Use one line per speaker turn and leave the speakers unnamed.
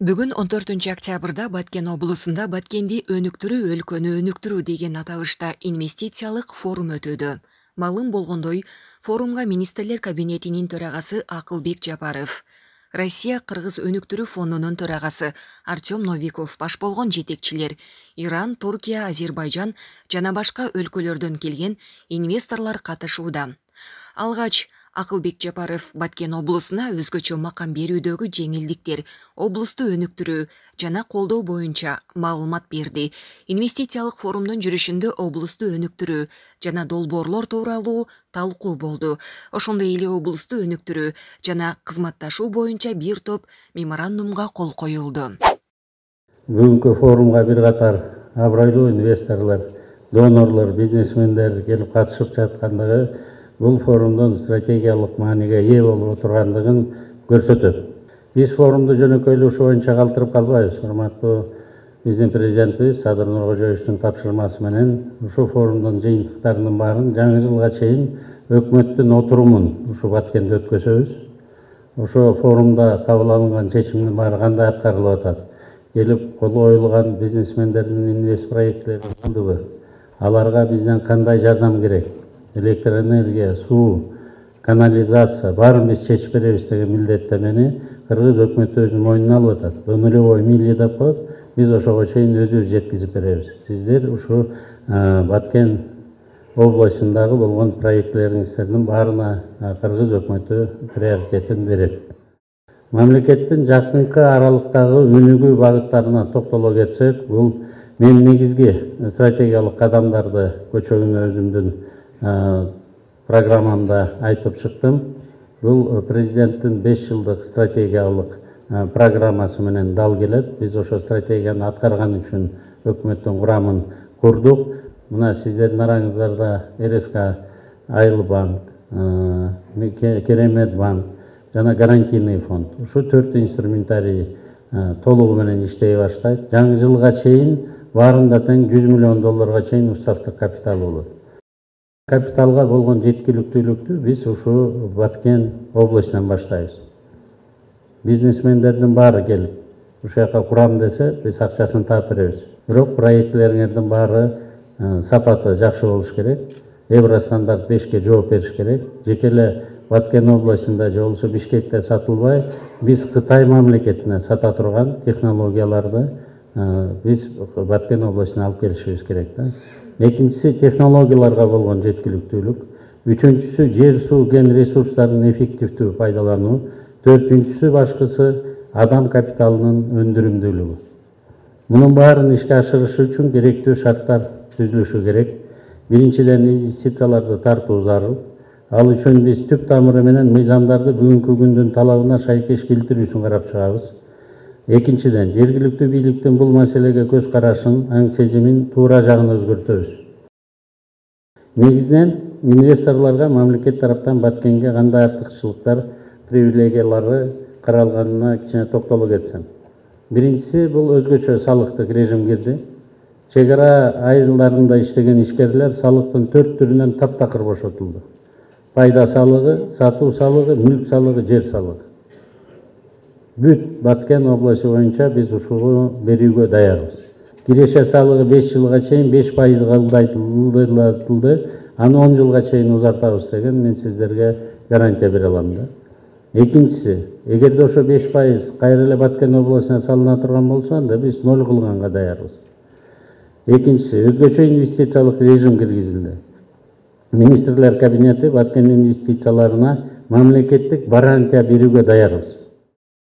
Бүгүн 14-октябрда Баткен облусунда Баткенди өнүктүрүү, өлкөнү өнүктүрүү деген аталышта инвестициялык форум өтүүдө. Маалым болгондой, форумга министрлер кабинетинин төрагасы Акылбек Жапаров, Россия Кыргыз өнүктүрүү фондунун төрагасы Артем Новиков баш болгон жетекчилер, Иран, Туркия, Азербайжан жана башка өлкөлөрдөн келген инвесторлор катышууда. Алгач Акылбек Жапаров Баткен облусуна өзгөчө макам берүүдөгү жеңилдиктер, облусту өнүктүрүү жана колдоо боюнча маалымат берди. Инвестициялык форумдун жүрүшүндө облусту өнүктүрүү жана долбоорлор тууралуу талкуу болду. Ошондой эле облусту өнүктүрүү жана кызматташуу боюнча бир топ меморандумга кол коюлду.
Бүгүнкү форумга бир катар абройлуу инвесторлор, донорлор, бизнесмендер келип катышып жаткандыгы бул форумдун стратегиялык мааниге ээ болуп отургандыгын көрсөтөт. Биз форумду жөнөкөйлүк ушу боюнча калтырып калбайбыз. Урматтуу биздин президентибиз Садыр Нуркожоевичтин тапшырмасы менен ушул форумдун жыйынтыктарынын баарын жаңы жылга чейин өкмөттүн отурумун ушу Баткенде өткөзөбүз. Ошо форумда кабыл алынган чечимдин баары кандай аткарылып атат? Келип кол коюлган бизнесмендердин инвест проекттери кылдыбы? Аларга бизден кандай жардам керек? Электроэнергия, суу, канализация баарын биз чечип беребиз деген милдеттемени Кыргыз өкмөтү өзүнүн мойнуна алып атат. Нулевой мили деп коет, биз ошого чейин өзүбүз жеткизип беребиз. Сиздер ушу Баткен областындагы болгон проектлериңиздердин баарына Кыргыз өкмөтү приоритетин берет. Мамлекеттин жакынкы аралыктагы өнүгүү багыттарына токтоло кетсек, бул мен негизги стратегиялык кадамдарды көчөгүнө өзүмдүн программамда айтып чыктым. Бул президенттин 5 жылдык стратегиялык программасы менен дал келет. Биз ошо стратегияны аткарган үчүн өкмөттүн курамын курдук. Мына сиздердин араңыздарда РСК, Айыл банк, Керемет банк жана гарантийный фонд. Ушу 4 инструментарий толугу менен иштей баштайт. Жаңы жылга чейин баарында тең $100 миллион чейин уставдык капитал болот. Капиталга болгон жеткиликтүүлүктү биз ушу Баткен областынан баштайбыз. Бизнесмендердин баары келип, ушул жака курам десе, биз акчасын таап беребиз. Бирок проектлериңердин баары сапаты жакшы болуш керек. Евростандарт 5ке жооп бериш керек. Жеке эле Баткен областында же болбосо Бишкекте сатылбай, биз Кытай мамлекетине сата турган технологияларды биз Баткен областына алып келишибиз керек да. Экинчиси технологияларга болгон жеткиликтүүлүк. Үчүнчүсү жер суу кен ресурстарын эффективдүү пайдалануу. Төртүнчүсү башкысы адам капиталынын өндүрүмдүүлүгү. Мунун баарын ишке ашырыш үчүн керектүү шарттар түзүлүшү керек. Биринчиден инвестицияларды тартуу зарыл. Ал үчүн биз түп тамыры менен мыйзамдарды бүгүнкү күндүн талабына шайкеш келтирүүсүн карап чыгабыз. Экинчиден, жергиликтүү бийликтин бул маселеге көз карашын, аң чечимин туура жагын өзгөртөбүз. Негизинен инвесторлорго мамлекет тараптан Баткенге кандай артыкчылыктар, привилегиялары каралганына кичине токтоло кетсем. Биринчиси, бул өзгөчө салыктык режим кирди. Чек ара айылдарында иштеген ишкерлер салыктын 4 түрүнөн таптакыр бошотулду. Пайда салыгы, сатуу салыгы, мүлк салыгы, жер салыгы. Бүт Баткен областы боюнча биз ушуну берүүгө даярбыз. Киреше салыгы 5 жылга чейин 5% кылдырылды, аны 10 жылга чейин узартабыз деген мен сиздерге гарантия бере алам да. Экинчиси, эгерде ошо 5% кайра эле Баткен областына салына турган болсо, анда биз 0 кылганга даярбыз. Экинчиси, өзгөчө инвестициялык режим киргизилди. Министрлер кабинети Баткен инвестицияларына мамлекеттик гарантия берүүгө даярбыз.